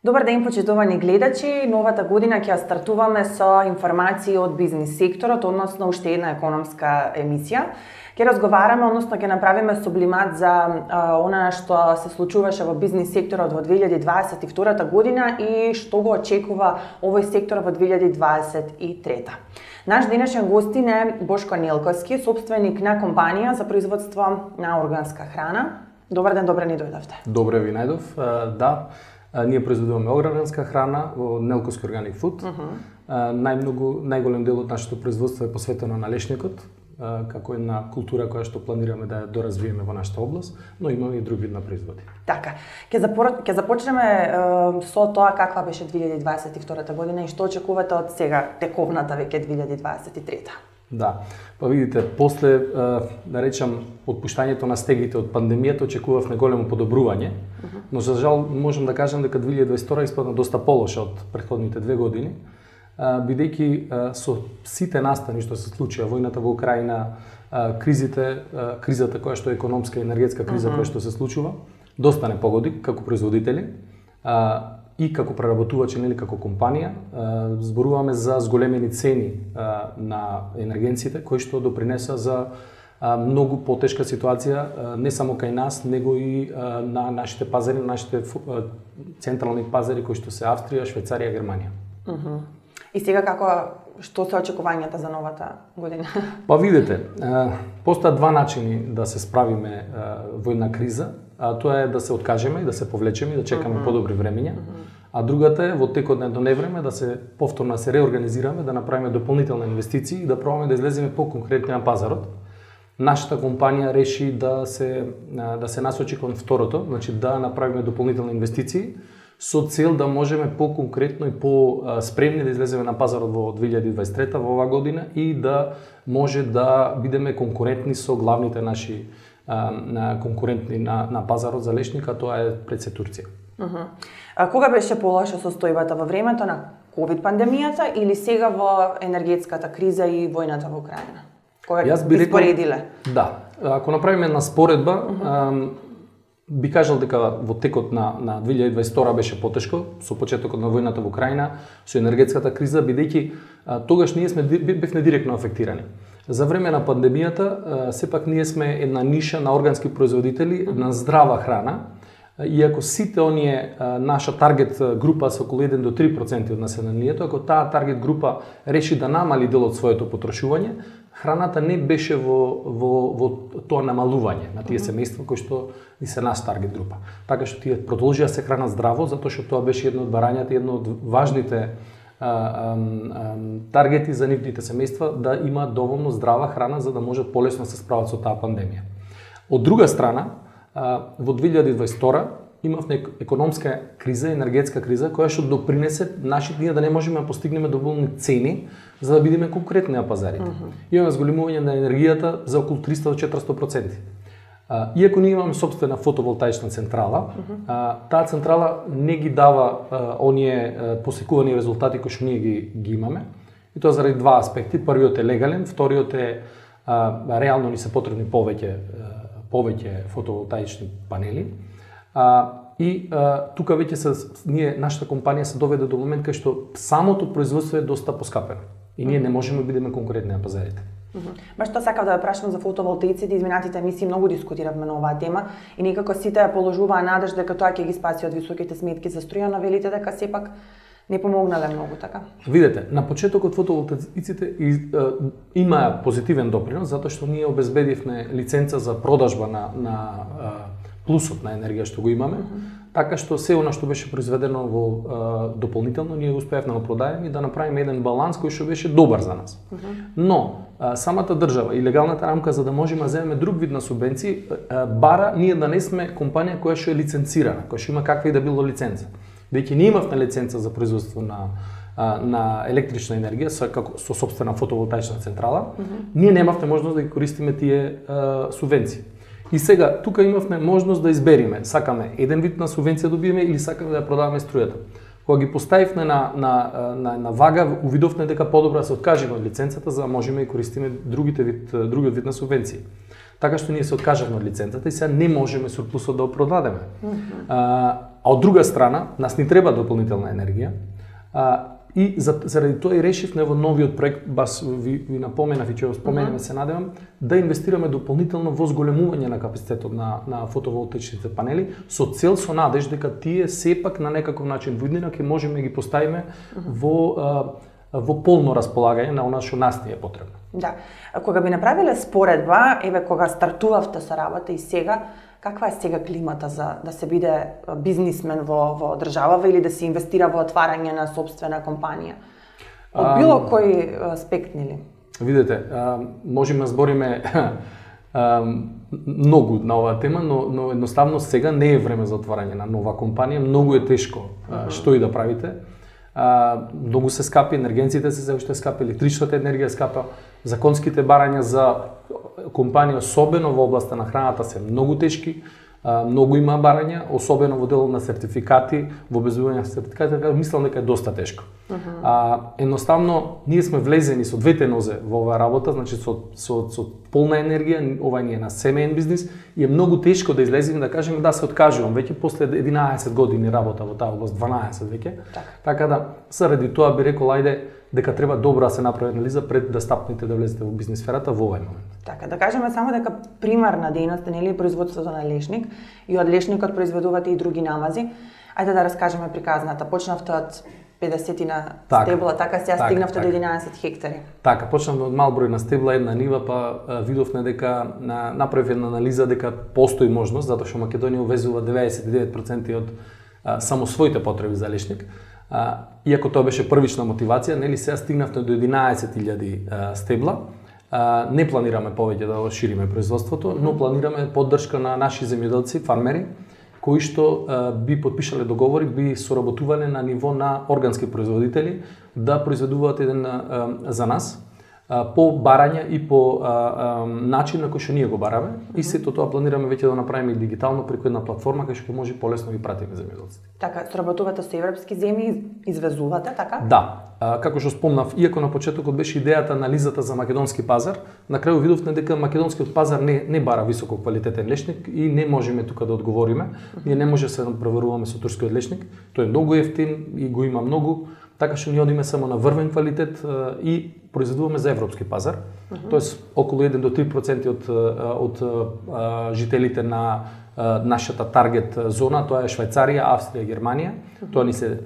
Добар ден, почитувани гледачи. Новата година ќе ја стартуваме со информации од бизнис секторот, односно уште една економска емисија. Ќе разговараме, односно ќе направиме сублимат за она што се случуваше во бизнис секторот во 2022 година и што го очекува овој сектор во 2023. Наш денешен гостин е Бошко Нелковски, собственик на компанија за производство на органска храна. Добар ден, добре ни дојдовте. Добре ви најдов. Да. Ние произведуваме органска храна во Нелковски Organic Food. Најголем дел од нашето производство е посветено на лешникот, како една култура која што планираме да ја доразвиеме во нашата област, но имаме и друг вид на производи. Така, ќе започнеме со тоа каква беше 2022 година и што очекувате од сега тековната веќе 2023. Да, па видите, после, да речам, отпуштањето на стегите од пандемијата очекувавме големо подобрување, но за жал можам да кажам дека 2022 испадна доста полоша од претходните 2 години, бидејќи со сите настани што се случија, војната во Украина, кризата која што е економска и енергетска криза која што се случува, доста не погоди како производители и како преработувачи, нели како компанија. Зборуваме за зголемени цени на енергенците кои што допринеса за многу потешка ситуација не само кај нас, него и на нашите пазари, на нашите централни пазари кои што се Австрија, Швајцарија, Германија. И сега што се очекувањата за новата година? Па видите, постојат два начини да се справиме во една криза. Тоа е да се откажеме и да се повлечеме и да чекаме подобри времења. А другата е во текот на едно невреме да се повторно се реорганизираме, да направиме дополнителни инвестиции и да пробаме да излеземе по-конкретни на пазарот. Нашата компанија реши да се насочи кон второто, значи да направиме дополнителни инвестиции со цел да можеме по-конкретно и по-спремни да излеземе на пазарот во 2023 во оваа година и да може да бидеме конкурентни со главните наши конкурентни на пазарот за лешника, тоа е пред се Турција. Кога беше полоша состојбата, во времето на ковид пандемијата или сега во енергетската криза и војната во Украина? Кога би споредиле? Да, ако направиме една споредба, би кажал дека во текот на 2022 беше потешко, со почетокот на војната во Украина, со енергетската криза, бидејќи тогаш ние бевме директно афектирани. За време на пандемијата, сепак ние сме една ниша на органски производители на здрава храна, иако сите оние наша таргет група се околу 1 до 3% од населението, ако таа таргет група реши да намали дел од своето потрошување, храната не беше во тоа намалување на тие семејства кои што и се нас таргет група. Така што тие продолжија се хранат здраво, затоа што тоа беше едно од барањата, едно од важните таргети за нивните семејства да имаат доволно здрава храна за да можат полесно да се справат со таа пандемија. Од друга страна, во 2022 имавме економска криза, енергетска криза која што допринесе ние да не можеме да постигнеме доволни цени за да бидеме конкурентни на пазарите. Имаме зголемување на енергијата за околу 300 до 400%. Иако ние имаме собствена фотоволтаична централа, таа централа не ги дава оние посекувани резултати кои што ние ги имаме. И тоа заради два аспекти. Првиот е легален, вториот е реално ни се потребни повеќе фотоволтаични панели. И тука веќе нашата компанија се доведе до момент кај што самото производство е доста поскапено. И ние не можеме да бидеме конкурентни на пазарите. Баш тоа сакав да ја прашам за фотоволтаиците, изминатите емисии многу дискутиравме на оваа тема и некако сите ја положуваа надежда дека тоа ќе ги спаси од високите сметки за струја, но велите дека сепак не помогнале многу, така? Видете, на почетокот фотоволтаиците имаа позитивен допринос затоа што ние обезбедивме лиценца за продажба на плюсот на енергија што го имаме, така што се она што беше произведено дополнително ние успеавме да го продаеме и да направиме еден баланс кој што беше добар за нас. Но самата држава и легалната рамка за да можеме да земеме друг вид на субвенции бара ние да не сме компанија која што е лиценцирана, која што има каква и да било лиценца. Веќе ние имавме лиценца за производство на електрична енергија со собствена фотоволтаична централа, ние немавме можност да ги користиме тие субвенции. И сега, тука имавме можност да избериме, сакаме еден вид на субвенција добиеме или сакаме да ја продаваме струјата. Кога ги поставивме на вага, увидовме дека подобро да се откажеме од лиценцата за да можеме да користиме другиот вид на субвенции. Така што ние се откажавме од лиценцата и сега не можеме сурплусот да го продадеме. од друга страна, нас ни треба дополнителна енергија, и заради тоа и решивме во новиот проект, бас ви напоменав и ќе го споменеме, се надевам, да инвестираме дополнително во зголемување на капацитетот на фотоволтаичните панели, со цел, со надеж дека тие сепак на некаков начин во иднина ќе можеме ги поставиме во полно располагање на она што нас ни е потребно. Да. Кога би направиле споредба, еве кога стартувавте со работа и сега, каква е сега климата за да се биде бизнисмен во државава или да се инвестира во отварање на собствена компанија? Од било кој аспект, нели? Видете, можеме да збориме многу на оваа тема, но едноставно сега не е време за отварање на нова компанија, многу е тешко што и да правите. Многу се скапи, енергенците се уште скапи, електричната енергија скапа, законските барања за компанија, особено во областа на храната, се многу тешки, многу има барања, особено во делот на сертификати, во обезбедување на сертификати, така мислам дека е доста тешко. Едноставно, ние сме влезени со двете нозе во оваа работа, значи со полна енергија, ова ни е на семеен бизнис и е многу тешко да излеземе да кажеме да се откажувам веќе после 11 години работа во таа област, 12 веќе. Така да заради тоа би рекол ајде дека треба добро да се направи анализа пред да стапнете да влезете во бизнис сферата во овој момент. Така, да кажеме само дека примарна дејност е нели производството на лешник и од лешникот произведувате и други намази. Ајде да раскажеме приказната. Почнавте од 50 стебла, така сега стигнавте до 11 хектари. Така, почнавме од мал број на стебла, една нива, па видовме дека направив една анализа дека постои можност, затоа што Македонија увезува 99% од само своите потреби за лешник. Иако тоа беше првична мотивација, нели сега стигнавте до 11.000 стебла. Не планираме повеќе да шириме производството, но планираме поддршка на наши земјоделци, фармери, кои што би подпишале договори, би соработувале на ниво на органски производители да произведуваат еден за нас по барање и по начин на кој што ние го бараме. И сето тоа планираме веќе да направиме и дигитално преку една платформа кај што може полесно ги пратиме земјоделците. Така, соработувате со европски земји, извезувате, така? Да. Како што спомнав, иако на почетокот беше идејата анализата за македонски пазар, на крају видовме дека македонскиот пазар не бара високо квалитетен лешник и не можеме тука да одговориме. Ние не може да се преваруваме со турскиот лешник, тој е многу ефтин и го има многу, така што ние одиме само на врвен квалитет и произведуваме за европски пазар. Тоест околу 1 до 3% од жителите на нашата таргет зона, тоа е Швајцарија, Австрија, Германија. Тоа ни се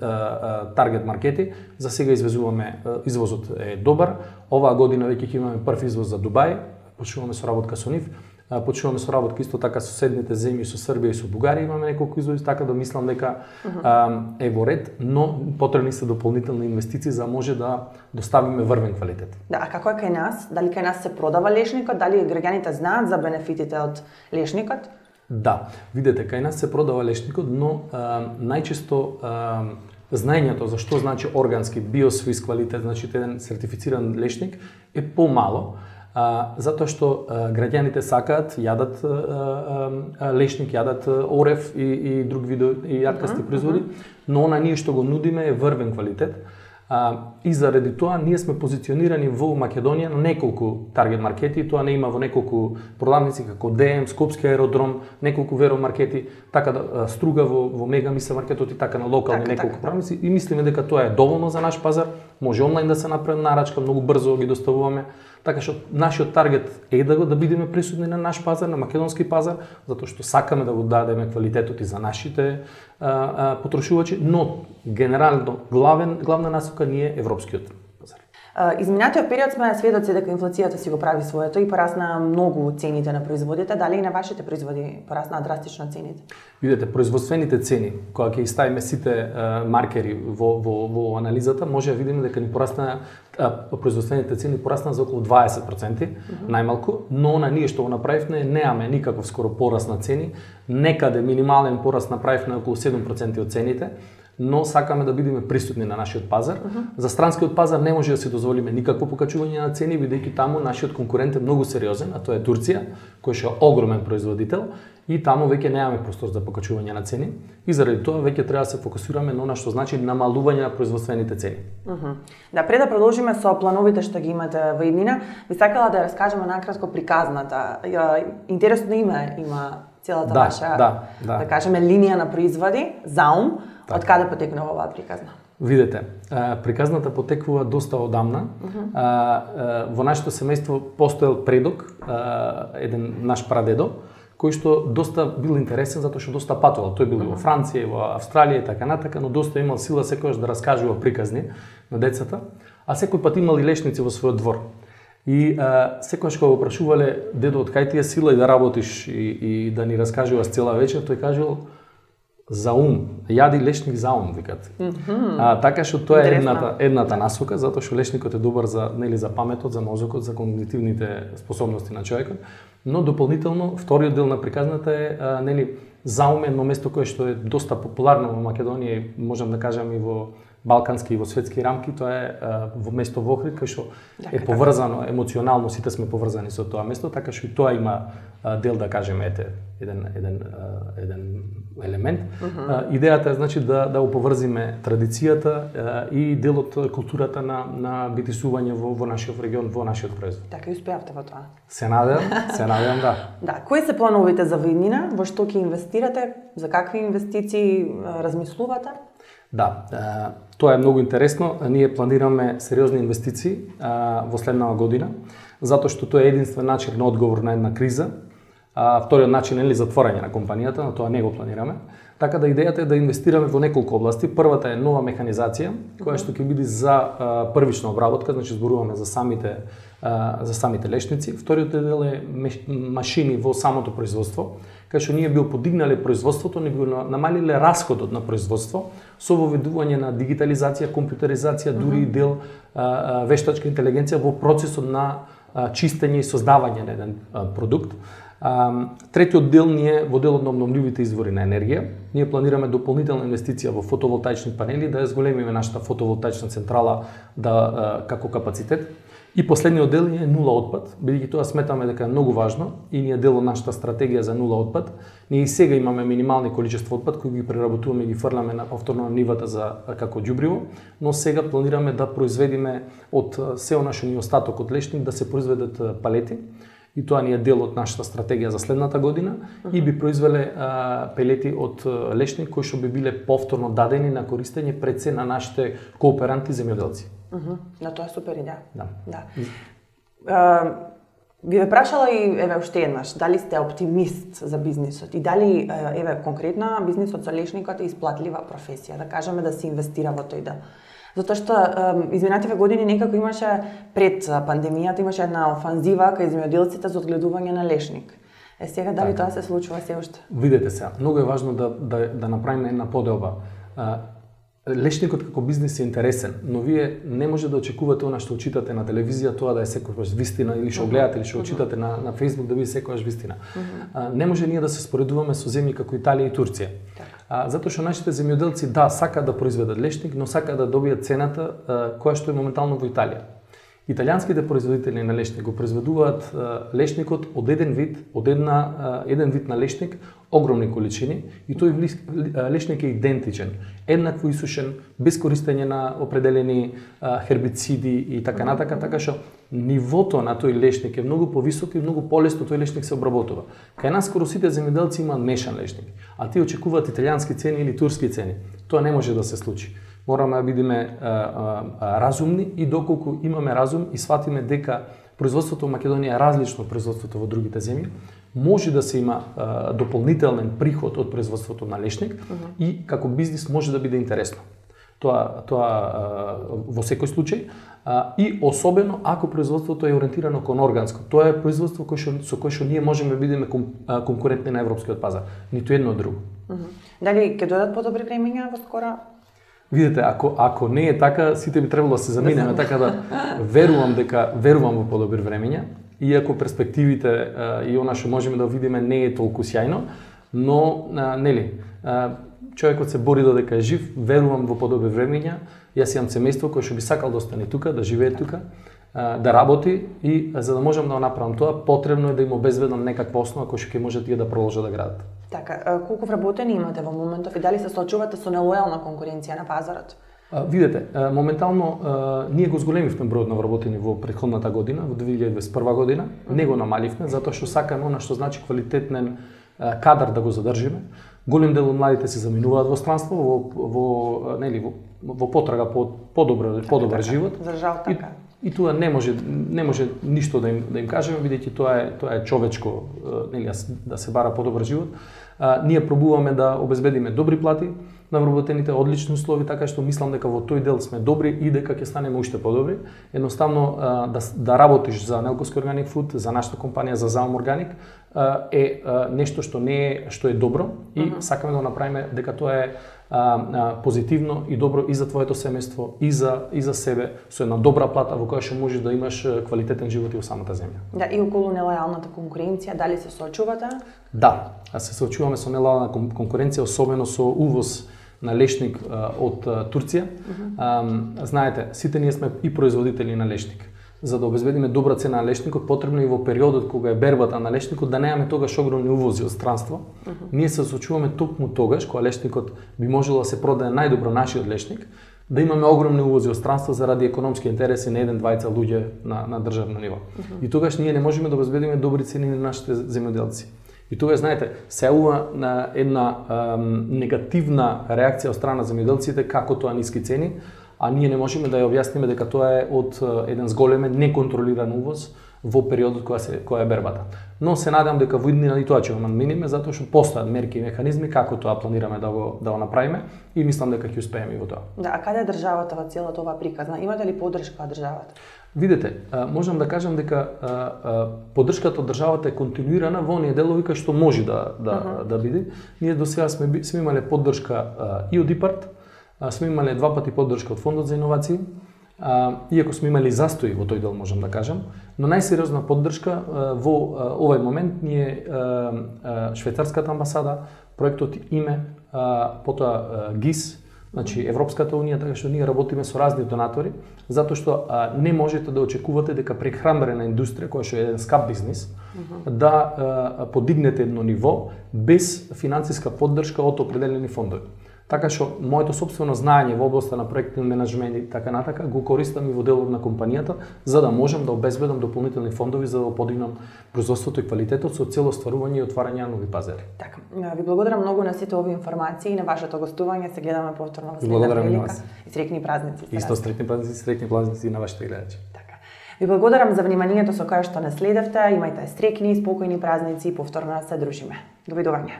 таргет маркети. За сега извезуваме, извозот е добар. Оваа година веќе имаме прв извоз за Дубај, почнуваме со работка со нив. Почнуваме со работка исто така со соседните земји, со Србија и со Бугарија имаме неколку извози, така да мислам дека е во ред, но потребни се дополнителни инвестиции за може да доставиме врвен квалитет. Да, а како е кај нас? Дали кај нас се продава лешникот? Дали граѓаните знаат за бенефитите од лешникот? Да, видете, кај нас се продава лешникот, но најчесто знаењето за што значи органски биосвис квалитет, значи еден сертифициран лешник е помало. Затоа што граѓаните сакаат, јадат лешник, јадат орев и друг видови и јаркасти производи, но она ние што го нудиме е врвен квалитет. И заради тоа ние сме позиционирани во Македонија на неколку таргет маркети, тоа не има во неколку продавници како ДМ, Скопски аеродром, неколку веромаркети, така да Струга во Мегамиса маркетот и така на локални неколку продавници и мислиме дека тоа е доволно за наш пазар, може онлайн да се направи нарачка, многу брзо ги доставуваме. Така што нашиот таргет е да бидеме присутни на наш пазар, на македонски пазар, затоа што сакаме да го дадеме квалитетот и за нашите потрошувачи, но генерално главна насока ни е европскиот пазар. Изминатиот период сме сведоци дека инфлацијата си го прави своето и порасна многу цените на производите. Дали и на вашите производи порасна драстично цените? Видете, производствените цени, кога ќе ставиме сите маркери во анализата, може да видиме дека ни порасна производствените цени порасна за околу 20%, најмалку, но на ние што го направивме немаме никаков скоро пораст на цени, некаде минимален пораст направивме околу 7% од цените, но сакаме да бидеме присутни на нашиот пазар. За странскиот пазар не може да си дозволиме никакво покачување на цени, бидејќи таму нашиот конкурент е многу сериозен, а тоа е Турција, кој е огромен производител и таму веќе немаме простор за покачување на цени и заради тоа веќе треба да се фокусираме на она што значи намалување на производствените цени. Да, пред да продолжиме со плановите што ги имате во иднина, би сакала да раскажеме накратко приказната. Интересно име има целата ваша, да кажеме, линија на производи, заум, од каде потекнува оваа приказна? Видете, приказната потекува доста одамна. Во нашето семејство постоел предок, еден наш прадедо, кој што доста бил интересен затоа што доста патувал. Тој бил во Франција, во Австралија и така натака, но доста имал сила секогаш да раскажува приказни на децата, а секој пат имал и лешници во својот двор. И секогаш кога го прашувале дедо од кај ти е сила и да работиш и да ни раскажуваш цела вечер, тој кажувал за ум, јади лешник за ум, викат. Така што тоа е едната насока, затоа што лешникот е добар за за паметот, за мозокот, за когнитивните способности на човекот, но дополнително вториот дел на приказната е заум е едно место кое што е доста популарно во Македонија и можам да кажам и во балкански и во светски рамки, тоа е во место во Охрид, кај што е поврзано емоционално, сите сме поврзани со тоа место, така што и тоа има дел, да кажеме, еден елемент. Идејата е значи да оповрзиме традицијата и делот културата на битисување во нашиот регион, во нашиот производ. Така и успеавте во тоа. Се надевам, да. Да, кои се плановите за иднина? Во што ќе инвестирате? За какви инвестиции размислувате? Да, тоа е многу интересно. Ние планираме сериозни инвестиции во следнава година, затоа што тоа е единствен начин на одговор на една криза. Вториот начин е затворање на компанијата, но тоа не го планираме. Така да идејата е да инвестираме во неколку области. Првата е нова механизација, која што ќе биде за првична обработка, значи зборуваме за самите лешници. Вториот дел е машини во самото производство, кај што ние би подигнале производството, не би намалиле расходот на производство со воведување на дигитализација, компјутеризација, дури и дел вештачка интелигенција во процесот на чистење и создавање на еден продукт. Третиот дел ние во делот на обновливите извори на енергија. Ние планираме дополнителна инвестиција во фотоволтаични панели, да ја зголемиме нашата фотоволтаична централа како капацитет. И последниот дел е нула отпад, бидејќи тоа сметаме дека е многу важно и ние дел од нашата стратегија за нула отпад. Ние и сега имаме минимални количества отпад кои ги преработуваме и ги фрламе повторно на нивата како ѓубриво, но сега планираме да произведиме од сео нашо ни остаток од лешник да се произведат палети. И тоа ни е дел од нашата стратегија за следната година и би произвеле пелети од лешник кои што би биле повторно дадени на користење пред се на нашите кооперанти земјоделци. Да, тоа е супер идеја. Да. Ви ве прашала и уште еднаш, дали сте оптимист за бизнисот и дали конкретно бизнисот со лешникот е исплатлива професија, да кажеме да се инвестира во тој дел. Затоа што изминативе години некако имаше пред пандемијата имаше една офанзива кај земјоделците за одгледување на лешник. Сега дали тоа се случува се уште? Видете се, многу е важно да направиме една поделба. Лешникот како бизнис е интересен, но вие не може да очекувате она што читате на телевизија, тоа да е секогаш вистина, или што гледате или што читате на Facebook да биде секогаш вистина. Не може ние да се споредуваме со земји како Италија и Турција. Затоа што нашите земјоделци сакаат да произведат лешник, но сакаат да добијат цената која што е моментално во Италија. Италијанските производители на лешник го произведуваат лешникот од еден вид на лешник, огромни количини, и тој лешник е идентичен, еднакво исушен, без користење на определени хербициди и така натака, така што нивото на тој лешник е многу повисоко и многу полесно тој лешник се обработува. Кај нас скоро сите земјоделци имаат мешан лешник, а тие очекуваат италијански цени или турски цени. Тоа не може да се случи. Мораме да бидеме разумни и доколку имаме разум и сватиме дека производството во Македонија е различно од производството во другите земји, може да се има дополнителен приход од производството на лешник и како бизнис може да биде интересно. Тоа во секој случај и особено ако производството е ориентирано кон органско. Тоа е производство со кое што ние можеме да бидеме конкурентни на европскиот пазар, ниту едно друго. Дали ќе дојдат подобри времиња во скоро? Видите, ако не е така, сите би требало да се заминеме, така да верувам во подобри времења, иако перспективите и она што можеме да видиме не е толку сјајно, но човекот се бори додека е жив, верувам во подобри времења. Јас имам семејство кое што би сакал да остане тука, да живее тука, да работи и за да можам да го направам тоа, потребно е да им обезбедам некаква основа која што ќе може тие да продолжат да градат. Така, колку вработени имате во моментов и дали се соочувате со нелојална конкуренција на пазарот? Видете, моментално ние го зголемивме бројот на вработени во претходната година, во 2021 година, не го намаливме, затоа што сакаме она што значи кадар да го задржиме. Голем дел од младите се заминуваат во странство, во потрага по подобар живот. За жал така. И тоа не може ништо да им кажеме, бидејќи тоа е човечко, да се бара подобар живот. Ние пробуваме да обезбедиме добри плати на вработените, одлични услови, така што мислам дека во тој дел сме добри и дека ќе станеме уште подобри. Едноставно да работиш за Нелковски Organic Food, за нашата компанија, за Zaum Organic, е нешто што е добро и сакаме да го направиме дека тоа е позитивно и добро и за твоето семејство, и за себе, со една добра плата во која што можеш да имаш квалитетен живот и во самата земја. Да, и околу нелојалната конкуренција, дали се соочувате? Да, се соочуваме со нелојална конкуренција, особено со увоз на лешник од Турција. Знаете, сите ние сме и производители на лешник. За да обезбедиме добра цена на лешникот, потребно и во периодот кога е бербата на лешникот да немаме тогаш огромни увози од странство. Ние се соочуваме токму тогаш кога лешникот би можело да се продаде најдобро нашиот лешник, да имаме огромни увози од странство заради економски интереси на 1-2 луѓе на државно ниво. И тогаш ние не можеме да обезбедиме добри цени на нашите земјоделци. И тогаш, знаете, се јавува на една негативна реакција од страна земјоделците како тоа ниски цени, а ние не можеме да ја објасниме дека тоа е од еден зголемен неконтролиран увоз во периодот која е бербата. Но се надевам дека во иднина и тоа ќе го надминиме, затоа што постојат мерки и механизми како тоа планираме да го направиме и мислам дека ќе успееме и во тоа. Да, а каде е државата во целата оваа приказна? Имате ли поддршка од државата? Видете, можам да кажам дека поддршката од државата е континуирана во оние делови кај што може да биде. Ние до сега сме имале поддршка и од ИПАРТ, сме имале 2 пати поддршка од Фондот за иновации, иако сме имали застои во тој дел, можам да кажам, но најсериозна поддршка во овој момент ни е швајцарската амбасада, проектот ИМЕ, потоа ГИС, значи Европската унија, така што ние работиме со разни донатори, затоа што не можете да очекувате дека прехранбена индустрија, која што е еден скап бизнис, да подигнете едно ниво без финансиска поддршка од определени фондови. Така што моето сопствено знаење во областа на проектни менеджмент и така натака го користам и во делот на компанијата за да можам да обезбедам дополнителни фондови за да подигнам производството и квалитетот со цел остварување и отварање на нови пазари. Така, ви благодарам многу на сите овие информации и на вашето гостување. Се гледаме повторно во следна прилика. И среќни празници. Исто среќни празници на вашите гледачи. Така. Ви благодарам за вниманието со кое што не следевте. Имајте среќни и спокојни празници и повторно се дружиме. Довидување.